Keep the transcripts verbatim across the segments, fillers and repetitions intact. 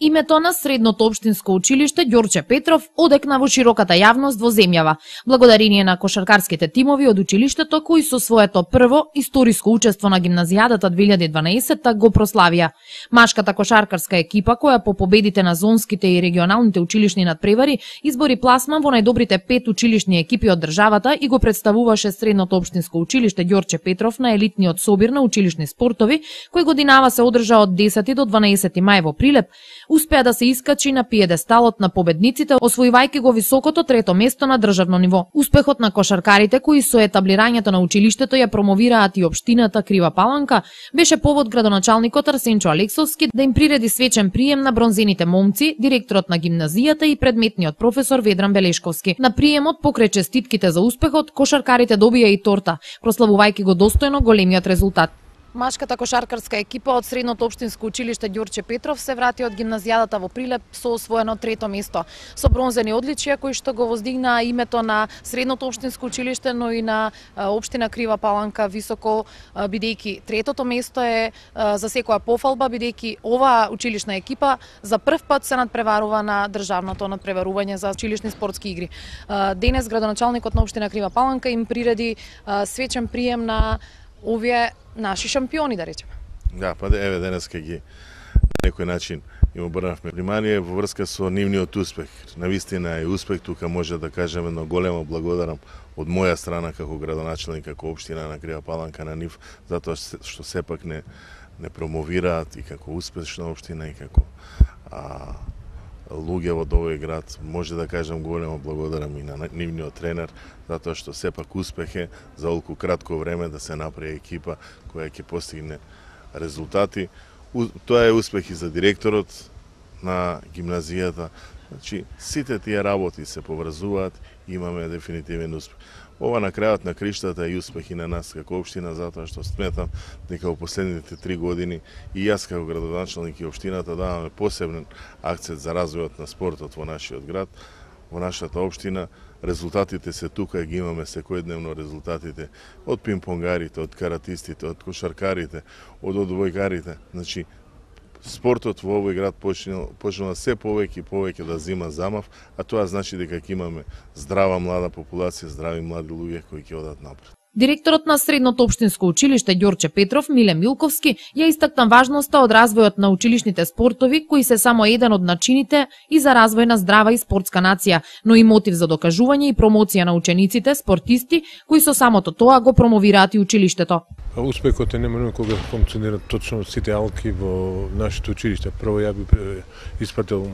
Името на средното општинско училиште Ѓорче Петров одекна во широката јавност во земјава, благодарение на кошаркарските тимови од училиштето кои со своето прво историско учество на гимназијадата две илјади и дванаесетта го прославија. Машката кошаркарска екипа која по победите на зонските и регионалните училишни надпревари избори пласман во најдобрите пет училишни екипи од државата и го представуваше средното општинско училиште Ѓорче Петров на елитниот собир на училишни спортови кој годинава се одржа од десети до дванаесети мај во Прилеп, успеа да се искачи на пиедесталот на победниците, освојувајќи го високото трето место на државно ниво. Успехот на кошаркарите кои со етаблирањето на училиштето ја промовираат и општината Крива Паланка беше повод градоначалникот Арсенчо Алексовски да им приреди свечен прием на бронзените момци, директорот на гимназијата и предметниот професор Ведран Белешковски. На приемот покрај честитките за успехот, кошаркарите добија и торта, прославувајќи го достојно големиот резултат. Машката кошаркарска екипа од средното општинско училиште Ѓорче Петров се врати од гимназијадата во Прилеп со освоено трето место, со бронзени одличија кои што го воздигна името на средното општинско училиште, но и на општина Крива Паланка високо, бидејќи третото место е за секоја пофалба, бидејќи оваа училишна екипа за прв пат се надпреварува на државното надпреварување за училишни спортски игри. Денес градоначалникот на општина Крива Паланка им приреди свечен прием на овие наши шампиони, да речеме. Да, па еве денеска ги на некој начин им обрнавме внимание во врска со нивниот успех. Навистина е успех, тука може да кажеме едно големо благодарам од моја страна како градоначалник, како општина на Крива Паланка на нив, затоа што сепак не не промовираат и како успешна општина и како а, луѓе од овој град, може да кажам големо благодарам и на нивниот тренер, затоа што сепак успех е за олку кратко време да се направи екипа која ќе постигне резултати. Тоа е успех и за директорот на гимназијата. Значи, сите тие работи се поврзуваат и имаме дефинитивен успех. Ова на крајот на криштата е успех и на нас како општина, затоа што сметам дека во последните три години и јас како градоначалник и општината даваме посебен акцент за развојот на спортот во нашиот град, во нашата општина. Резултатите се тука, ги имаме секојдневно резултатите од пинг-понгарите, од каратистите, од кошаркарите, од одбојкарите. Значи, спортот во овој град почнал, почнал се повеќе и повеќе да зима замав, а тоа значи дека ќе имаме здрава млада популација, здрави млади луѓе кои ќе одат напред. Директорот на средното општинско училиште Ѓорче Петров, Миле Милковски, ја истакна важноста од развојот на училишните спортови, кои се само еден од начините и за развој на здрава и спортска нација, но и мотив за докажување и промоција на учениците, спортисти, кои со самото тоа го промовираат и училиштето. Успехот е неминуемо кога функционираат точно сите алки во нашето училиште. Прво ја би испратил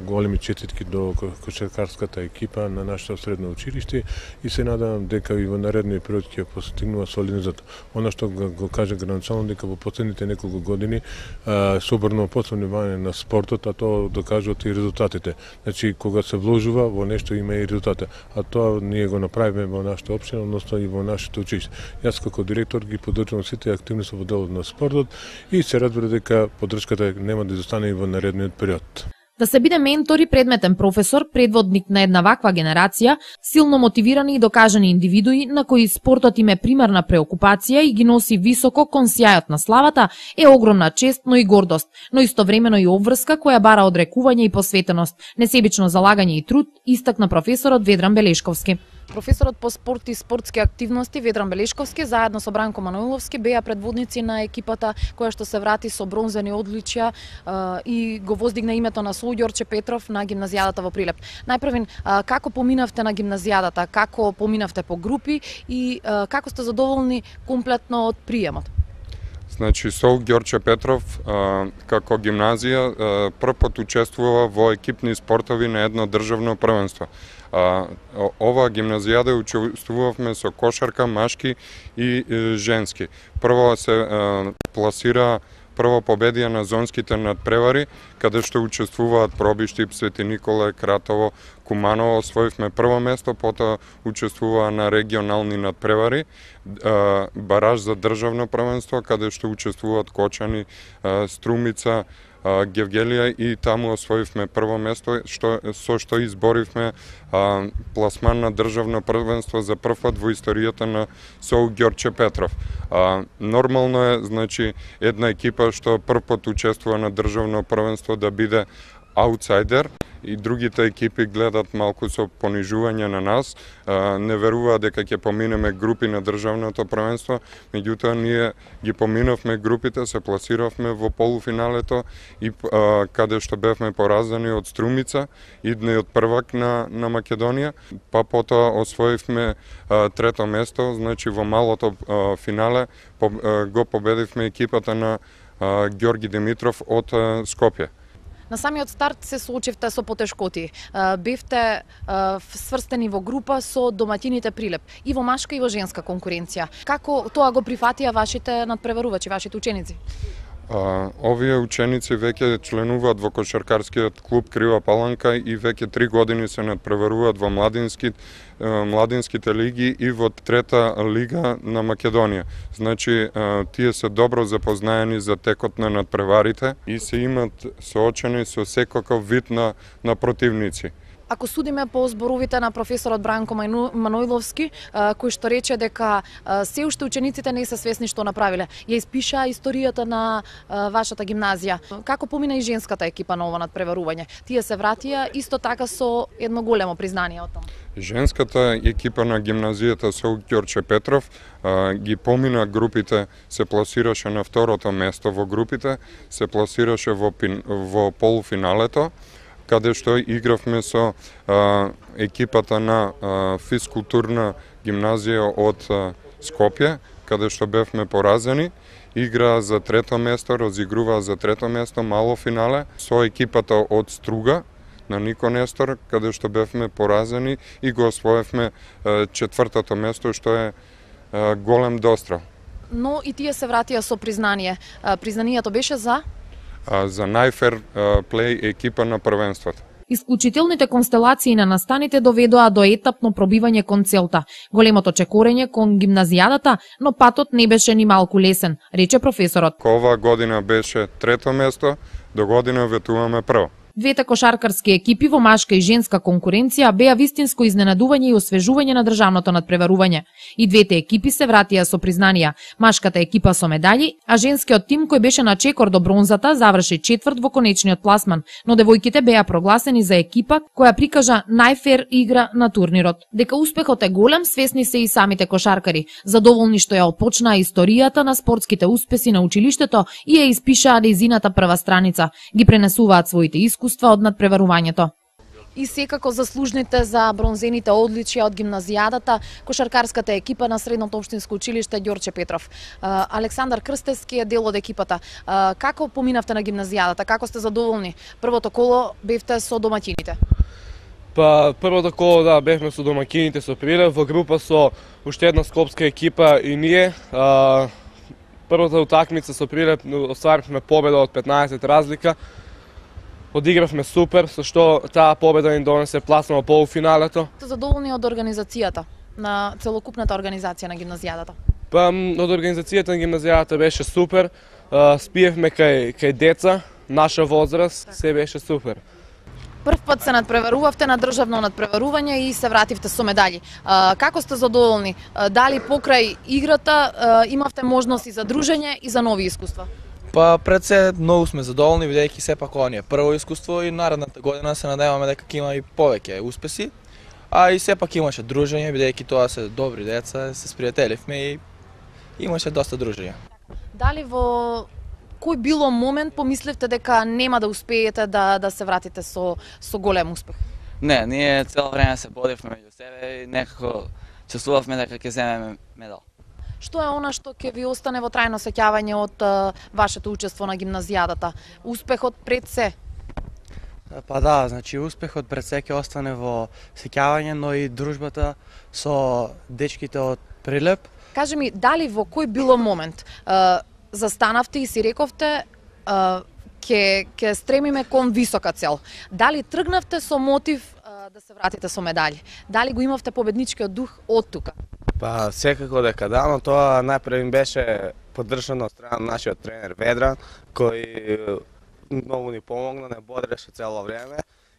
големи честитки до кошаркарската екипа на нашето средно училиште и се надевам дека и во наредни период ќе постигнува солидно зато. Она што го, го каже градоначалникот дека во последните неколку години а, се обрнува посебно внимание на спортот, а тоа докажуваат и резултатите. Значи кога се вложува во нешто има и резултати, а тоа ние го направиме во нашата општина, односно и во нашето училиште. Јас како директор ги поддржувам сите активности во делот на спортот и се разбира дека поддршката нема да изостане и во наредниот период. Да се биде ментор и предметен професор, предводник на една ваква генерација, силно мотивирани и докажани индивидуи на кои спортот им е примарна преокупација и ги носи високо кон сјајот на славата, е огромна чест, но и гордост, но истовремено и обврска која бара одрекување и посветеност, несебично залагање и труд, истакна професорот Ведран Белешковски. Професорот по спорт и спортски активности Ведран Белешковски заедно со Бранко Мануиловски беа предводници на екипата која што се врати со бронзени одличја и го воздигна името на свој Ѓорче Петров на гимназијадата во Прилеп. Најпрвен, како поминавте на гимназијадата, како поминавте по групи и како сте задоволни комплетно од приемот? Значи, со Ѓорче Петров како гимназија прв пат учествува во екипни спортови на едно државно првенство. Ова гимназијада учествувавме со кошарка, машки и женски. Прво се пласира прво победија на зонските надпревари, каде што учествуваат Пробиштип, Свети Николај, Кратово, Куманово. Освоивме прво место, потоа учествуваа на регионални надпревари, бараж за државно првенство, каде што учествуваат Кочани, Струмица, Гевгелија и таму освоивме прво место, што, со што изборивме а, пласман на државно првенство за прв пат во историјата на СОУ Ѓорче Петров. А, нормално е, значи, една екипа што прв пат учествува на државно првенство да биде аутсайдер и другите екипи гледат малку со понижување на нас, не веруваат дека ќе поминеме групи на државното првенство, меѓутоа ние ги поминавме групите, се пласиравме во полуфиналето и а, каде што бевме поразени од Струмица, идниот првак на, на Македонија, па потоа освоивме а, трето место, значи во малото а, финале по, а, го победивме екипата на а, Ѓорги Димитров од а, Скопје. На самиот старт се соочивте со потешкоти. Бевте сврстени во група со домаќините Прилеп, и во машка и во женска конкуренција. Како тоа го прифатија вашите надпреварувачи, вашите ученици? А, овие ученици веќе членуваат во кошаркарскиот клуб Крива Паланка и веќе три години се надпреваруваат во младински, младинските лиги и во трета лига на Македонија. Значи, тие се добро запознаени за текот на надпреварите и се имат соочени со секаков вид на, на противници. Ако судиме по зборовите на професорот Бранко Манојловски, кој што рече дека се уште учениците не се свесни што направиле, ја испиша историјата на вашата гимназија. Како помина и женската екипа на ова надпреварување? Тие се вратија исто така со едно големо признание од таму. Женската екипа на гимназијата СОУ Ѓорче Петров а, ги помина групите, се пласираше на второто место во групите, се пласираше во, пин, во полуфиналето, каде што игравме со а, екипата на а, физкултурна гимназија од а, Скопје, каде што бевме поразени. Игра за трето место, разигрува за трето место, мало финале, со екипата од Струга на Нико Нестор, каде што бевме поразени и го освоевме а, четвртото место, што е а, голем дострел. Но и тие се вратија со признание. А, признанието беше за? За најфер плей екипа на првенството. Исклучителните констелации на настаните доведоа до етапно пробивање кон целта. Големото чекорење кон гимназијадата, но патот не беше ни малку лесен, рече професорот. Ова година беше трето место, до година ветуваме прво. Двете кошаркарски екипи во машка и женска конкуренција беа вистинско изненадување и освежување на државното надпреварување. И двете екипи се вратија со признанија. Машката екипа со медаљи, а женскиот тим кој беше на чекор до бронзата заврши четврт во конечниот пласман, но девојките беа прогласени за екипа која прикажа најфер игра на турнирот. Дека успехот е голем, свесни се и самите кошаркари, задоволни што ја опочнаа историјата на спортските успеси на училиштето и ја испишаа нејзината прва страница. Ги пренесуваат своите искуства од надпреварувањето. И секако заслужните за бронзените одличија од гимназијадата кошаркарската екипа на Средното општинско училиште Ѓорче Петров. Александар Крстевски е дел од екипата. Како поминавте на гимназијадата? Како сте задоволни? Првото коло бевте со домаќините. Па првото коло да бевме со домаќините со Прилеп во група со уште една скопска екипа и ние. А, првата утакмица со Прилеп остваривме победа од петнаесет разлика. Одигравме супер, со што таа победа ни донесе пласма во полуфиналето. Сте задоволни од организацијата, на целокупната организација на гимназијадата? Па, од организацијата на гимназијадата беше супер. Спиевме кај, кај деца, наша возраст, се беше супер. Прв пат се надпреварувавте на државно надпреварување и се вративте со медаљи. Како сте задоволни? Дали покрај играта имавте можност и за дружење и за нови искуства? Па пред се многу сме задоволни, бидејќи сепак ова ни е прво искуство и наредната година се надеваме дека ќе има и повеќе успеси. А и сепак имаше дружење, бидејќи тоа се добри деца, се спријателивме и имаше доста дружење. Дали во кој било момент помисливте дека нема да успеете да да се вратите со со голем успех? Не, ние цело време се бодивме меѓу себе и некако чувствувавме дека ќе земеме медал. Што е она што ќе ви остане во трајно сеќавање од uh, вашето учество на гимназијадата? Успехот пред се? Па да, значи успехот пред се ќе остане во сеќавање, но и дружбата со дечките од Прилеп. Кажи ми, дали во кој било момент uh, застанавте и си рековте uh, ќе ќе стремиме кон висока цел? Дали тргнавте со мотив uh, да се вратите со медаљи? Дали го имавте победничкиот дух од тука? Па секако дека да, но тоа најпрво им беше поддржано од страна на нашиот тренер Ведран, кој многу ни помогна, не бодреше цело време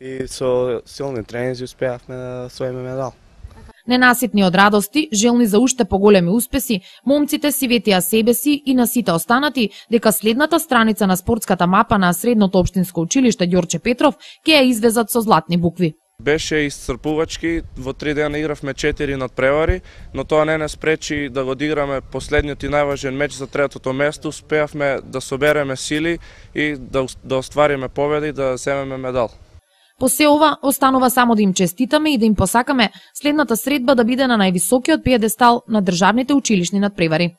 и со силни тренинзи успеавме да освоиме медал. Ненаситни од радости, желни за уште поголеми успеси, момците си ветија себе си и на сите останати дека следната страница на спортската мапа на Средното општинско училиште Ѓорче Петров ќе ја извезат со златни букви. Беше исцрпувачки, во три дена игравме четири надпревари, но тоа не не спречи да го одиграме последниот и најважен меч за третото место, успеавме да собереме сили и да, да оствариме победа и да земеме медал. По се ова, останува само да им честитаме и да им посакаме следната средба да биде на највисокиот пиедестал на државните училишни надпревари.